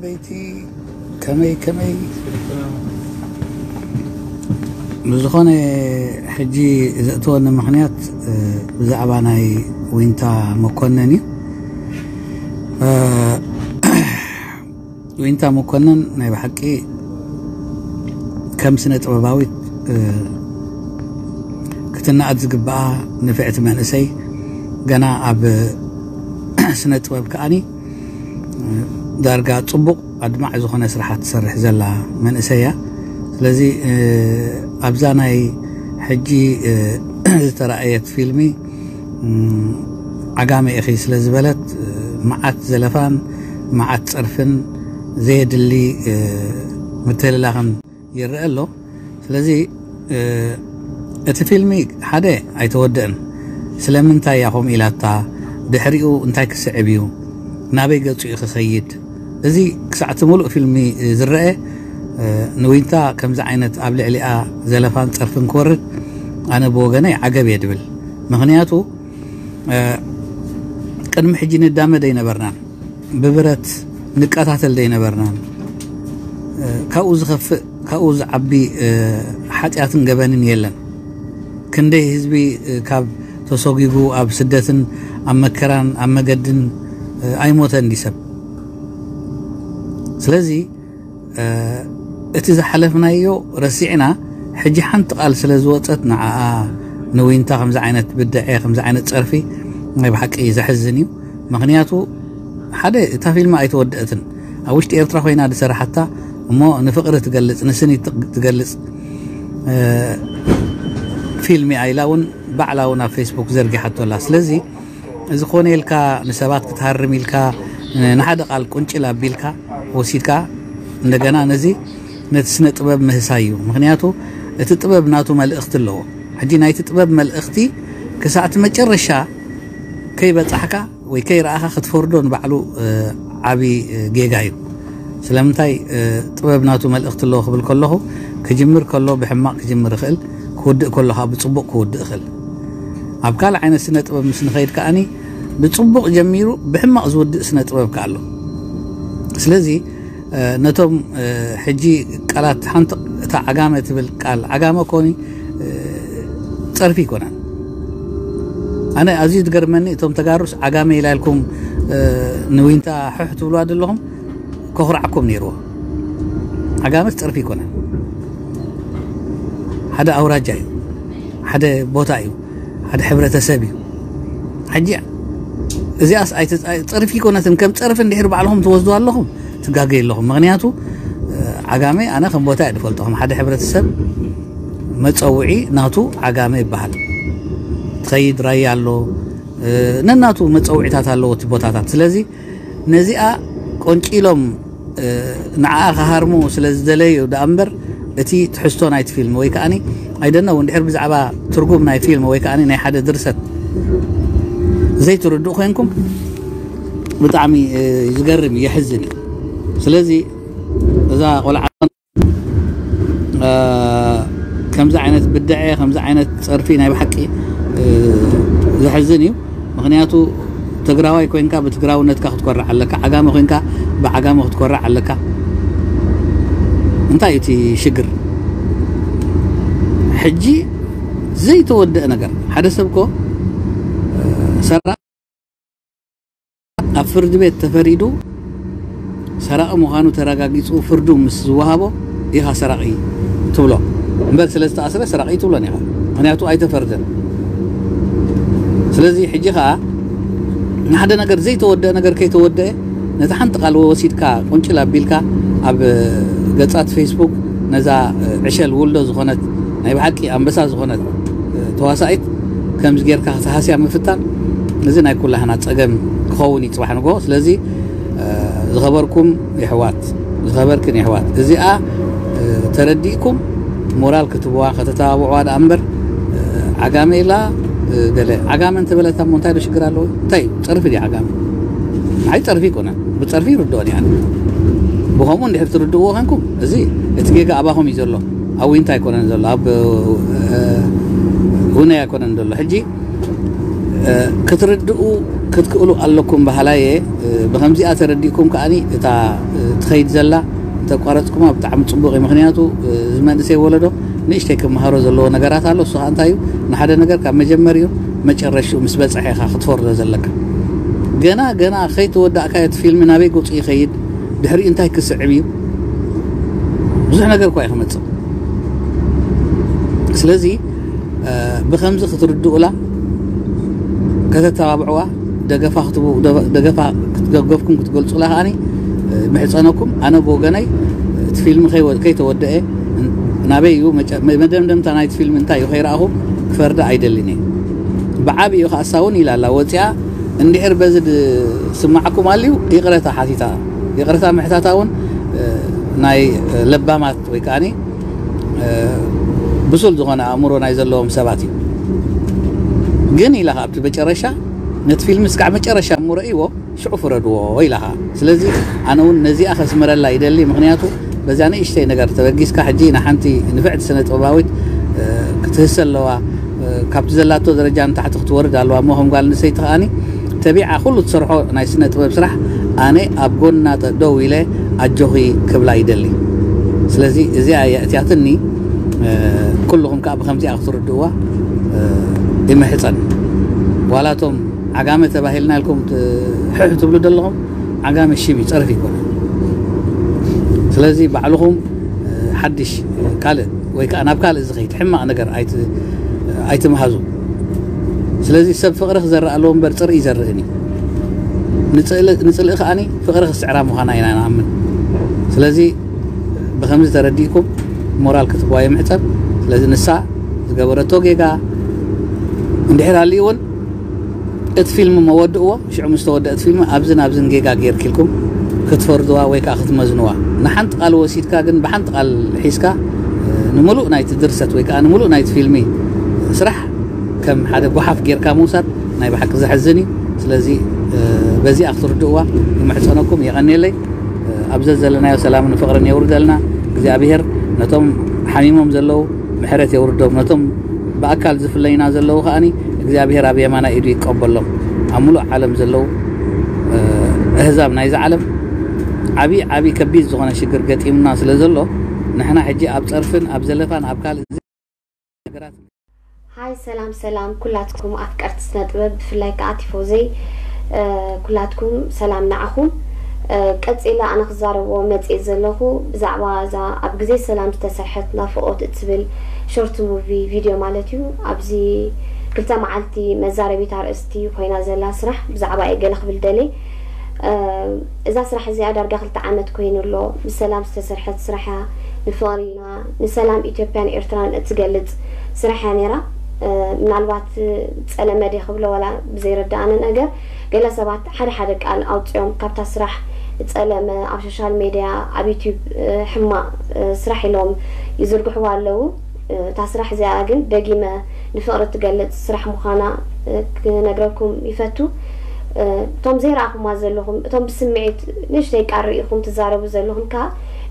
በይቲ ከመይ ከመይ ብዝኾነ ሕጂ ዘእተወኒ ምኽንያት ብዛዕባ ናይ ዊንታ መኮነን እዩ። ዊንታ መኮነን ናይ ብሓቂ ከም ስነ ጥበባዊት ክትናኣድ ዝግባኣ ንፍዕቲ መንእሰይ፣ ገና ኣብ ስነ ጥበብ ከኣኒ ዳርጋ ጽቡቕ ኣድማዕ ዝኾነ ስራሓት ትሰርሕ ዘላ መንእሰይ እያ። ስለዚ ኣብዛ ናይ ሕጂ ዝተራእየት ፊልሚ ዓጋመ ኢኺ ስለ ዝበለት፣ መዓት ዘለፋን መዓት ጸርፍን ዘየድሊ ምትልላኽን ይረአ ኣሎ። ስለዚ እቲ ፊልሚ ሓደ ኣይተወደእን። ስለምንታይ እያ ከምኡ ኢላታ? ድሕሪኡ እንታይ ክስዕብ እዩ? ናበይ ገጹ እዩ ክኸይድ? እዚ ክሳዕ እቲ ሙሉእ ፊልሚ ዝረአ፣ ንዊንታ ከምዚ ዓይነት ኣብ ልዕሊኣ ዘለፋን ጸርፍን ክወርድ ኣነ ብወገነይ ዓገብ እየ ድብል። ምኽንያቱ ቅድሚ ሕጂ ንዳመ ደይነበርናን ብብረት ንቀታተል ደይነበርናን። ካብኡ ዝኸፍእ፣ ካብኡ ዝዓቢ ሓጢኣትን ገበንን የለን። ክንደይ ህዝቢ ካብ ተሰጒጉ ኣብ ስደትን ኣብ መከራን ኣብ መገድን ኣይሞተን ድዩ ሰብ? ስለዚ እቲ ዝሓለፍናዮ ረሲዕና፣ ሕጂ ሓንቲ ቃል ስለ ዝወጸት ንዓኣ ንዊንታ ከምዚ ዓይነት ብድዐ፣ ከምዚ ዓይነት ጸርፊ ናይ ብሓቂ ዘሕዝን እዩ። ምኽንያቱ ሓደ እታ ፊልም ኣይተወደእትን። ኣብ ውሽጢ ኤርትራ ኮይና ዝሰራሓታ እሞ ንፍቕሪ ትገልጽ፣ ንስኒት ትገልጽ ፊልም እያ ኢላ እውን ባዕላ እውን ኣብ ፌስቡክ ዘርጊሓቶ ኣላ። ስለዚ እዚ ኮነ ኢልካ ንሰባት ክትሃርም ኢልካ ንሓደ ቃል ቁንጭል ኣቢልካ ወሲድካ እንደገና ነዚ ነቲ ስነ ጥበብ ምህሳይ እዩ። ምኽንያቱ እቲ ጥበብ ናቱ መልእኽቲ ኣለዎ። ሕጂ ናይቲ ጥበብ መልእኽቲ ክሳዕቲ መጨረሻ ከይበጻሕካ ወይ ከይረኣኻ ክትፈርዶ ንባዕሉ ዓቢ ጌጋ እዩ። ስለምንታይ ጥበብ ናቱ መልእኽቲ ኣለዎ ክብል ከለኹ፣ ክጅምር ከሎ ብሕማቕ ክጅምር ይኽእል፣ ክውድእ ከሎ ከዓ ብጽቡቕ ክውድእ ይኽእል። ኣብ ካልእ ዓይነት ስነ ጥበብ ምስ ንኸይድ ከኣኒ ብጽቡቕ ጀሚሩ ብሕማቕ ዝውድእ ስነ ጥበብ ከኣ ኣሎ። ስለዚ ነቶም ሕጂ ቃላት ሓንቲ እታ ዓጋመ ትብል ቃል፣ ዓጋመ ኮኒ ጸርፊ ይኮነን። ኣነ ኣዝዩ ዝገርመኒ እቶም ተጋሩስ ዓጋመ ኢላ ኢልኩም ንዊንታ ሕሕ ትብልዋ ዘለኹም ከኹርዓኩም ነይርዎ። ዓጋመስ ጸርፊ ይኮነን። ሓደ ኣውራጃ እዩ፣ ሓደ ቦታ እዩ፣ ሓደ ሕብረተሰብ እዩ። ሕጂ እዚኣስ ኣይተ-፣ ኣይ-፣ ጸርፊ ይኮነትን። ከም ጸርፊ እንድሕር ባዕልኹም ትወስዱ ኣለኹም ትጋገ ኣለኹም። ምኽንያቱ ዓጋመ ኣነ ከም ቦታ እየ ዝፈልጦ። ከም ሓደ ሕብረተሰብ መጸውዒ ናቱ ዓጋመ ይበሃል። ትኸይድ ራያ ኣሎ፣ ነናቱ መጸውዒታት ኣለዎ እቲ ቦታታት። ስለዚ ነዚኣ ቆንጪሎም ንዓኣ ክሃርሙ ስለ ዝደለዩ ደኣ እምበር እቲ ትሕዝቶ ናይቲ ፊልም ወይ ከኣኒ ኣይደነው እንድሕር ብዛዕባ ትርጉም ናይ ፊልም ወይ ከኣኒ ናይ ሓደ ድርሰት ዘይትርድኡ ኮንኩም ብጣዕሚ ዝገርም እዩ፣ የሕዝን እዩ። ስለዚ እዛ ቆልዓ ከምዚ ዓይነት ብድዐ፣ ከምዚ ዓይነት ጸርፊ ናይ ብሓቂ ዘሕዝን እዩ። ምኽንያቱ ትግራዋይ ኮንካ ብትግራውነትካ ክትኮርዕ ኣለካ፣ ዓጋመ ኮንካ ብዓጋመ ክትኮርዕ ኣለካ። እንታይ እዩ እቲ ሽግር? ሕጂ ዘይተወደአ ነገር፣ ሓደ ሰብ እኮ ሰራ ኣብ ፍርዲ ቤት ተፈሪዱ ሰራቒ ምዃኑ ተረጋጊጹ ፍርዱ ምስ ዝወሃቦ ኢኻ ሰራቒ ትብሎ እምበር ስለ ዝተኣስረ ሰራቒ ትብሎን ኢኻ። ምኽንያቱ ኣይተፈርደን። ስለዚ ሕጂ ኸኣ ንሓደ ነገር ዘይተወደአ ነገር ከይተወደአ ነቲ ሓንቲ ቃል ወሲድካ ቁንጭል ኣቢልካ ኣብ ገጻት ፌስቡክ ነዛ ዕሸል ውልዶ ዝኾነት ናይ ብሓቂ ኣንበሳ ዝኾነት ተዋሳኢት ከምዚ ጌርካ ክትሃስያ ምፍታን እዚ ናይ ኩላህና ጸገም ክኸውን እዩ ጽባሕ ንግሆ። ስለዚ ዝኸበርኩም የሕዋት፣ ዝኸበርክን የሕዋት፣ እዚኣ ተረዲእኩም ሞራል ክትብዋ ከተተባብዕዋ ደኣ እምበር ዓጋመ ኢላ ገለ ዓጋመ እንተበለታ እሞ እንታይ ዶ ሽግር ኣለዎ? እንታይ እዩ? ጸርፊ ድዩ ዓጋመ? ንዓይ ጸርፊ ኣይኮነን። ብጸርፊ ይርድኦን እየ ኣነ። ብኸምኡ እንድሕር ትርድእዎ ኮንኩም እዚ እቲ ጌጋ ኣባኹም እዩ ዘሎ። ኣብ ዊንታ ኣይኮነን ዘሎ፣ ኣብ ሁነይ ኣይኮነን ዘሎ። ሕጂ ክትርድኡ ክትክእሉ ኣለኩም በሃላየ። ብከምዚኣ ተረዲእኩም ከኣኒ እታ ትኸይድ ዘላ እንተቋረፅኩማ ብጣዕሚ ፅቡቕ እዩ። ምክንያቱ እዚ መንእሰይ ወለዶ ንእሽተይ ክመሃሮ ዘለዎ ነገራት ኣሎ። እሱ ከዓ እንታይ እዩ? ንሓደ ነገር ካብ መጀመሪኡ መጨረሽኡ ምስ በፀሐ ኢኻ ክትፈርዶ ዘለካ። ገና ገና ከይተወዳእካዮ እቲ ፊልም ናበይ ገፁ ይኸይድ፣ ድሕሪኡ እንታይ ክስዕብ እዩ፣ ብዙሕ ነገር እኳ እዩ ክመፅእ። ስለዚ ብከምዚ ክትርድኡላ ከተተባብዕዋ፣ ደገፋ ክትቡ- ደገፋ ክትደገፍኩም ክትገልፁላ ከዓኒ ምሕፀነኩም። ኣነ ብወገነይ እቲ ፊልም ከይወ- ከይተወደአ ናበይ እዩ መጨ- መደምደምታ ናይቲ ፊልም እንታይ እዩ ከይረኣኹ ክፈርዳ ኣይደልን እየ። ብዓብዩ ከኣሳ እውን ኢላ ኣላ ወፂኣ። እንድሕር በዚ ዝስማዓኩም ኣልዩ ይቕረታ ሓቲታ፣ ይቕረታ ምሕታታ እውን ናይ ለባማት ወይ ከዓኒ ብሱል ዝኾነ ኣእምሮ ናይ ዘለዎም ሰባት እዩ። ግን ኢላ ኣብቲ መጨረሻ ነቲ ፊልም እስካዕ መጨረሻ እሞ ረእይዎ ሽዑ ፍረድዎ ኢላኻ። ስለዚ ኣነ እውን ነዚኣ ከስምረላ ይደሊ። ምክንያቱ በዛ ንእሽተይ ነገር ተበጊስካ ሕጂ ንሓንቲ ንፍዕቲ ስነ ጥበባዊት ክትህሰ ኣለዋ። ካብቲ ዘላቶ ደረጃ ንታሕቲ ክትወርድ ኣለዋ እሞ ከም ጓል ኣንስተይቲ ከኣኒ ተቢዓ ኩሉ ትሰርሖ ናይ ስነ ጥበብ ስራሕ ኣነ ኣብ ጎና ጠ- ደው ኢለ ኣጆኺ ክብላ ይደሊ። ስለዚ እዚኣ እያ እቲኣትኒ። ኩልኹም ከዓ ብከምዚኣ ክትርድእዋ ይምሕፀን። ዋላቶም ዓጋመ ተባሂልና ኢልኩም ት- ሕሕ ትብሉ ዘለኹም ዓጋመ ሽም ይፀርፍ ይኮነ። ስለዚ ባዕልኹም ሓድሽ ካልእ ወይ ከዓ ናብ ካልእ ዝኸይድ ሕማቕ ነገር ኣይት- ኣይትምሃዙ። ስለዚ ሰብ ፍቕሪ ክዘርእ ኣለዎ እምበር ፅርኢ ይዘርእን እዩ። ንፅልእ ንፅልእ ከዓኒ ፍቕሪ ክስዕራ ምዃና ኢና ንኣምን። ስለዚ ብከምዚ ተረዲእኩም ሞራል ክትህዋ ይምሕፀን። ስለዚ ንሳ ዝገበረቶ ጌጋ እንድሕር ኣልዩ እውን እቲ ፊልም መወድእዎ ሽዑ ምስ ተወደእት ፊልም ኣብዝን ኣብዝን ጌጋ ጌርኪልኩም ክትፈርድዋ ወይ ከዓ ክትመዝንዋ ንሓንቲ ቃል ወሲድካ ግን ብሓንቲ ቃል ሒዝካ ንምሉእ ናይቲ ድርሰት ወይ ከዓ ንምሉእ ናይቲ ፊልሚ ስራሕ ከም ሓደ ጓሓፍ ጌርካ ምውሳድ ናይ ብሓቂ ዘሕዝን እዩ። ስለዚ በዚኣ ክትርድእዋ ይምሕፀነኩም። የቐንየለይ። ኣብ ዘዘለናዮ ሰላምን ፍቕርን የውርደልና እግዚኣብሔር። ነቶም ሓሚሞም ዘለዉ ምሕረት የውርዶም። ነቶም ብኣካል ዝፍለዩና ዘለዉ ከኣኒ እግዚኣብሔር ኣብ የማናይ ኢዱ ይቀበሎም። ኣብ ሙሉእ ዓለም ዘለዉ ኣህዛብ ናይዚ ዓለም ዓብዪ ዓብዪ ከቢድ ዝኾነ ሽግር ገጢሙና ስለ ዘሎ ንሕና ሕጂ ኣብ ፀርፍን ኣብ ዘለፋን ኣብ ካልእ ነገራት ሃይ ሰላም ሰላም ኩላትኩም ኣፍቀርቲ ስነ ጥበብ ብፍላይ ከዓ ቲፎዘይ ኩላትኩም ሰላም ንዓኹም። ቀፂለ ኣነ ክዛረብዎ መፅእ ዘለኹ ብዛዕባ እዛ ኣብ ግዜ ሰላም ዝተሰርሐት ናፍቆት እትብል ሾርት ሙቪ ቪድዮ ማለት እዩ። ኣብዚ ክልተ መዓልቲ መዛረቢት ኣርእስቲ ኮይና ዘላ ስራሕ ብዛዕባ እየ ገለ ክብል ደልየ። እዛ ስራሕ እዚኣ ዳርጋ ክልተ ዓመት ኮይኑ ኣሎ። ብሰላም ዝተሰርሐት ስራሕ እያ። ንፍቕሪ ኢና ንሰላም ኢትዮጵያን ኤርትራን እትገልጽ ስራሕ እያ ነይራ። ምናልባት ጸለመ ድየ ክብሎ ዋላ ብዘይረድኣኒ ነገር ገለ ሰባት ሓደ ሓደ ቃል ኣውጺኦም ካብታ ስራሕ ጸለመ ኣብ ሶሻል ሜድያ ኣብ ዩቲዩብ ሕማቕ ስራሕ ኢሎም ይዝርግሕዋ ኣለዉ። እታ ስራሕ እዚኣ ግን ደጊመ ንፍቕሪ እትገልጽ ስራሕ ምዃና ክነግረኩም ይፈቱ። እቶም ዘይረኣኹማ ዘለኹም እቶም ብስምዒት ንእሽተይ ቃር ርኢኹም ትዛረቡ ዘለኹም ከኣ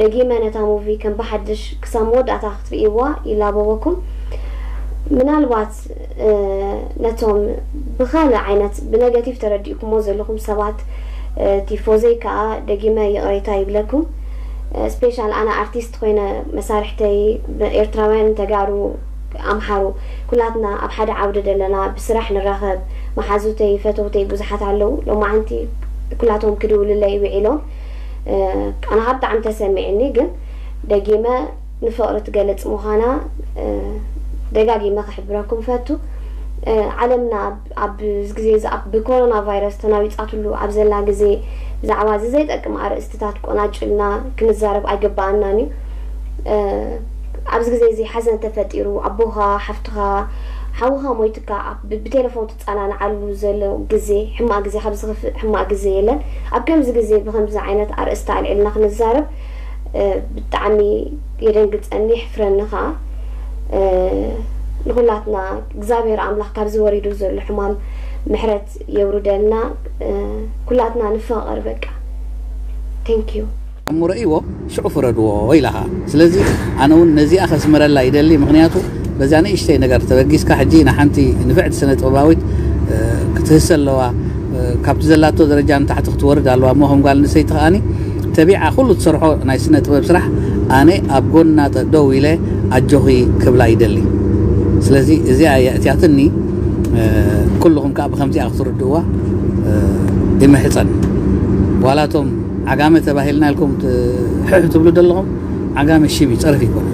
ደጊመ ነታ ሙቪ ከም ብሓድሽ ክሳብ መወዳእታ ክትርእይዋ ይላበወኩም። ምናልባት ነቶም ብኻልእ ዓይነት ብነገቲቭ ተረዲእኩሞ ዘለኹም ሰባት ቲፎዘይ ከኣ ደጊመ ይቕሬታ ይብለኩም። ስፔሻል ኣነ ኣርቲስት ኮይነ መሳርሕተይ ኤርትራውያን ተጋሩ ኣምሓሩ ኩላትና ኣብ ሓደ ዓውዲ ደለና ብስራሕ ንራኸብ መሓዙተይ ፈተውተይ ብዙሓት ኣለዉ ሎማዓንቲ ኩላቶም ክድውልለይ ውዒሎም ኣነ ካብ ብጣዕሚ ተሰሚዕኒ ግን ደጊመ ንፍቕሪ ትገልጽ ምዃና ደጋጊመ ክሕብረኩም ፈቱ ዓለምና ኣብ ግዜ ብኮሮና ቫይረስ ተናዊጻትሉ ኣብ ዘላ ግዜ ብዛዕባ እዚ ዘይጠቅም ኣርእስትታት ቆናጭልና ክንዛረብ ኣይግበኣናን እዩ ኣብዚ ግዜ እዚ ሓዘን ተፈጢሩ ኣቦኻ ሓፍትኻ ሓውኻ ሞይትካ ብቴሌፎን ትጸናንዓሉ ዘሎ ግዜ ሕማቅ ግዜ ካብ ዝኽፍእ ሕማቅ ግዜ የለን ኣብ ከምዚ ግዜ ብከምዚ ዓይነት ኣርእስቲ ኣልዕልና ክንዛረብ ብጣዕሚ የደንግጸኒ ይሕፍረኒ ከዓ ንኩላትና እግዚኣብሔር ኣምላኽ ካብዚ ወሪዱ ዘሎ ሕማም ምሕረት የውርደልና ኩላትና ንፋቐር በቃ thank you እሞ ረእይዎ ሽዑ ፍረድዎ ኢላኻ ስለዚ ኣነ እውን ነዚኣ ከስምረላ ይደሊ ምክንያቱ በዛ ንእሽተይ ነገር ተበጊስካ ሕጂ ንሓንቲ ንፍዕቲ ስነ ጥበባዊት ክትህሰ ኣለዋ ካብቲ ዘላቶ ደረጃ ንታሕቲ ክትወርድ ኣለዋ እሞ ከም ጓል ኣንስተይቲ ከኣኒ ተቢዓ ኩሉ ትሰርሖ ናይ ስነ ጥበብ ስራሕ ኣነ ኣብ ጎና ጠ- ደው ኢለ ኣጆኺ ክብላ ይደሊ። ስለዚ እዚኣ እያ እቲኣትኒ። ኩልኹም ከዓ ብከምዚኣ ክትርድእዋ ይምሕፀን። ዋላቶም ዓጋመ ተባሂልና ኢልኩም ሕሕ ትብሉ ዘለኹም፣ ዓጋመ ሽም እዩ፣ ፀርፊ ይኮነ።